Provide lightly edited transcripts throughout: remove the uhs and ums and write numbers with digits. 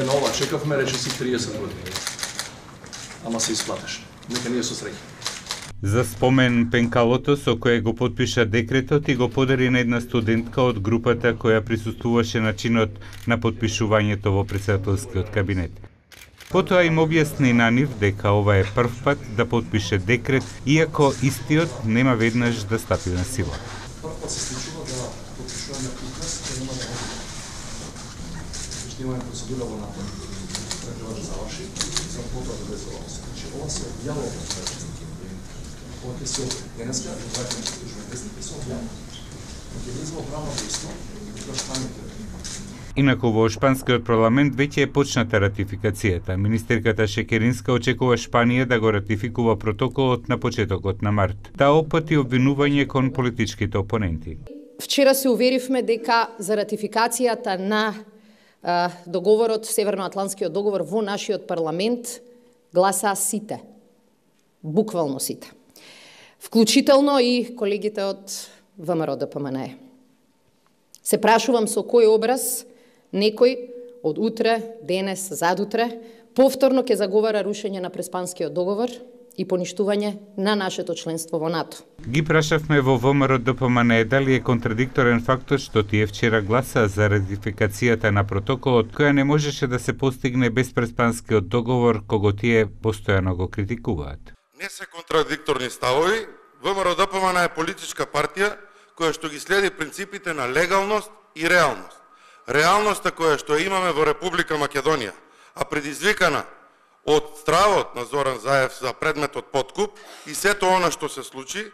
на ова чекавме, речиси 30 години. Ама се исплатеше. Нека ние со среќа. За спомен пенкалото со кое го потпиша декретот и го подари на една студентка од групата која присуствуваше на чинот на потпишувањето во претседателскиот кабинет. Потоа им објасни на нив дека ова е прв пат да потпише декрет, иако истиот нема веднаш да стапи на сила. Прв пат се случува да потпишуваме указ, кој нема да имаме процедура во НАТО. Треба да заврши, за потоа да влезе во се. Значи, ова се објавува во ова ќе се денеска, доаѓаме што журналистите се објавува. Ќе влезе во правно дејство, тоа Шпанијата. Инаку во Шпанскиот парламент веќе е почната ратификацијата. Министерката Шекеринска очекува Шпанија да го ратификува протоколот на почетокот на март. Таа опати обвинување кон политичките опоненти. Вчера се уверивме дека за ратификацијата на договорот, Северноатлантскиот договор во нашиот парламент гласаа сите. Буквално сите. Вклучително и колегите од ВМРО ДПМНЕ. Се прашувам со кој образ некој од утре, денес, задутре, повторно ќе заговара рушење на Преспанскиот договор и поништување на нашето членство во НАТО. Ги прашавме во ВМРО ДПМНЕ дали е контрадикторен фактот што тие вчера гласаа за ратификацијата на протоколот, која не можеше да се постигне без Преспанскиот договор, кого тие постојано го критикуваат. Не се контрадикторни ставови. ВМРО ДПМНЕ е политичка партија која што ги следи принципите на легалност и реалност. Реалноста која што имаме во Република Македонија, а предизвикана од стравот на Зоран Заев за предметот подкуп и сето она што се случи,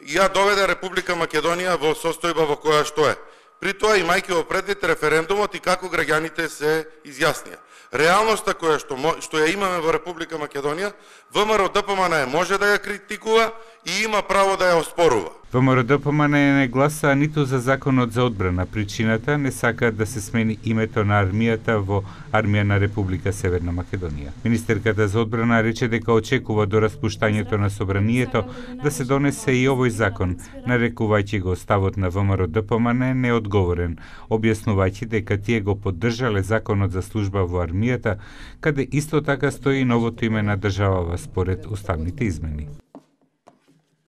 ја доведе Република Македонија во состојба во која што е. При тоа имајќи во предвид референдумот и како граѓаните се изјаснија. Реалноста која што ја имаме во Република Македонија, ВМРО ДПМНЕ може да ја критикува и има право да ја оспорува. ВМРО ДПМНЕ не гласаа ниту за законот за одбрана. Причината не сакаат да се смени името на армијата во Армија на Република Северна Македонија. Министерката за одбрана рече дека очекува до распуштањето на собранието да се донесе и овој закон, нарекувајќи го ставот на ВМРО ДПМНЕ неодговорен, објаснувајќи дека тие го поддржале законот за служба во армијата, каде исто така стои новото име на државава според уставните измени.